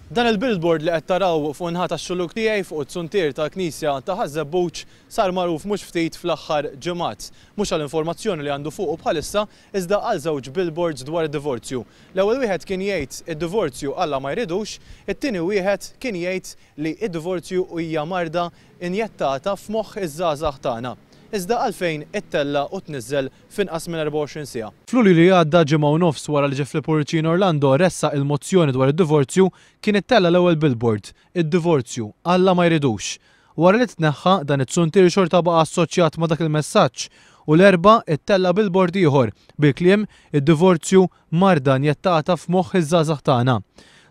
Dan il-billboard li qed taraw fuq in-naħa tax-xuluk tiegħi fuq it-zuntier tal-Knisja ta' Ħaż-Żebbuġ sar magħruf mhux ftit fl-aħħar ġimgħat. Mhux għall-informazzjoni li għandu fuqu bħalissa iżda għal żewġ billboards dwar id-divorzju. L-ewwel wieħed kien jgħid id-divorzju Alla ma jridux, it-tieni wieħed kien jgħid li d-divorzju hija marda injettata f'moħħ iż-żgħażagħ tagħna. Iżda għalfejn ittella' u tniżżel f'inqas minn 24 siegħa? F'Lulju li għadda, ġimgħa u nofs wara li Jeffrey Pullicino Orlando ressaq il-mozzjoni dwar id-divorzju, kien ittella' l-ewwel billboard, Id-divorzju, Alla ma jridux. Wara li tneħħa, dan iz-zuntier xorta baqa' assoċjat ma' dak il-messaġġ u l-Erbgħa ittella' billboard ieħor bil-kliem Id-divorzju, marda injettata f'moħħ iż-żgħażagħ tagħna.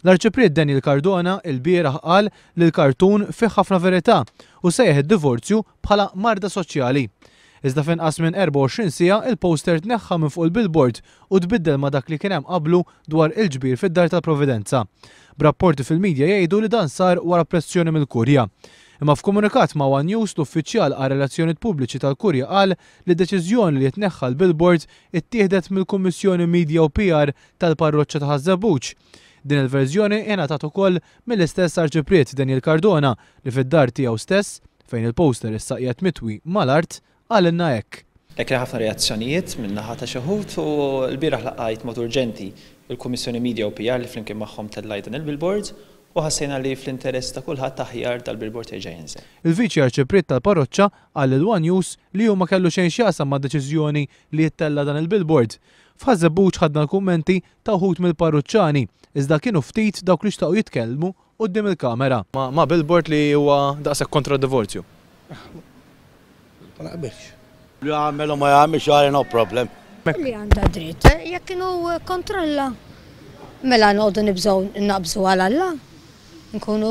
L-Arċipriet Daniel Cardona ilbieraħ qal li l-kartun fih ħafna verità u sejjaħ id-divorzju bħala marda soċjali. Iżda f'inqas minn 24 siegħa il-poster tneħħa minn fuq il-billboard u tbiddel ma' dak li kien hemm qablu dwar il-ġbir fid-Dar tal-Providenza. B'rapporti fil-media jgħidu li dan sar wara pressjoni mill-Kurja. Imma f'komunikat ma' one News l-uffiċjal għar-relazzjonijiet pubbliċi tal-Kurja qal li d-deċiżjoni li jitneħħa l-billboard ittieħdet mill-Kummissjoni Media u PR tal-Parroċċa ta' Ħaż-Żebbuġ. Din il-verżjoni ingħatat ukoll mill-istess Arċipriet Daniel Cardona li fid-dar tiegħu stess, fejn il-poster issa qiegħed mitwi mal-art, qalilna hekk. Kien hemm ħafna reazzjonijiet minn naħa ta' xi wħud u lbieraħ laqgħajt mod urġenti il-Kummissjoni Media u PR li flimkien magħhom tellajt dan il-billboard u ħassejna li fl-interess ta' kulħadd aħjar dal-billboard jerġa' jinżel. Il-Viċi Arċipriet tal-Parroċċa qal lil one News li hu ma kellu xejn x'jaqsam mad-deċiżjoni li jittella' dan il-billboard. F'Ħaż-Żebbuġ ħadna l-kummenti ta' wħud mill-parruċċani, iżda kienu ftit dawk li xtaqu jitkellmu quddiem il-kamera. Ma' billboard li huwa daqshekk kontra d-divorzju. Ma naqbilx. Li jagħmel u ma jagħmilx għali no problem. Li għandha dritt, jekk inhu kontra Alla, mela noqogħdu nibżgħu naqbżu għal Alla. Nkunu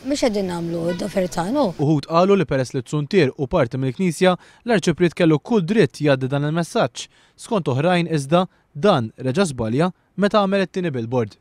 mhux qegħdin nagħmlu d-dover tagħna. Uħud qalu li peress li t-zuntier hu parti mill-Knisja, l-Arċipriet kellu kull dritt jgħaddi dan il-messaġġ. Skont oħrajn iżda, dan reġa' żbalja meta għamel it-tieni billboard.